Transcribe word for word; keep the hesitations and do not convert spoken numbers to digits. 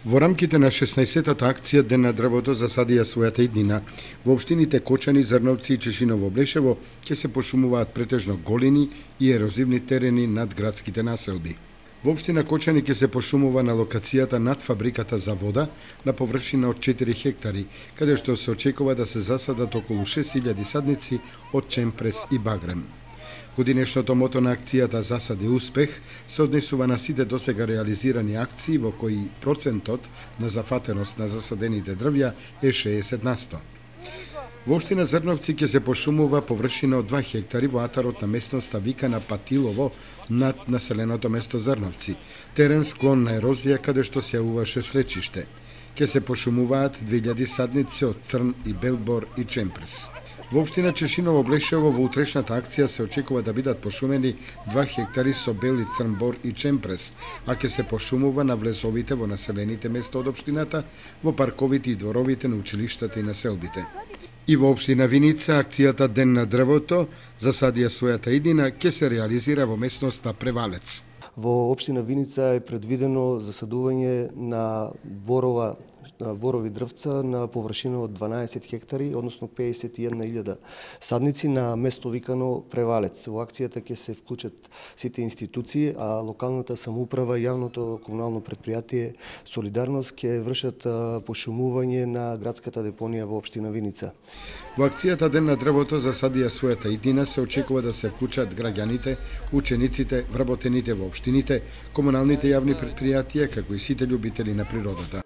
Во рамките на шеснаесеттата акција Ден на дрвото засадија својата иднина. Во општините Кочани, Зрновци и Чешиново Блешево ќе се пошумуваат претежно голини и ерозивни терени над градските населби. Во општина Кочани ќе се пошумува на локацијата над фабриката за вода на површина од четири хектари, каде што се очекува да се засадат околу шест илјади садници од чемпрес и багрем. Годинешното мото на акцијата Засади успех се однесува на сите досега реализирани акции во кои процентот на зафатеност на засадените дрвја е шеесет на сто. Во општина Зрновци ќе се пошумува површина од два хектари во атарот на местноста викана Патилово над населеното место Зрновци, терен склон на ерозија каде што се јавуваше слечиште. Ќе се пошумуваат две илјади садници од црн и белбор и чемпрес. Во општина Чешиново Блешево во утрешната акција се очекува да бидат пошумени два хектари со бел и црн бор и чемпрес, а ќе се пошумува на влезовите во населените места од општината, во парковите и дворовите на училиштата и населбите. И во општина Виница акцијата Ден на дрвото засадија својата иднина ќе се реализира во местноста Превалец. Во општина Виница е предвидено засадување на борова борови дрвца на површина од дванаесет хектари, односно педесет и една илјада садници на место викано Превалец. Во акцијата ќе се вклучат сите институции, а локалната самоуправа и јавното комунално претпријатие Солидарност ќе вршат пошумување на градската депонија во општина Виница. Во акцијата Ден на дрвото засадија својата иднина се очекува да се вклучат граѓаните, учениците, вработените во општините, комуналните јавни претпријатија, како и сите љубители на природата.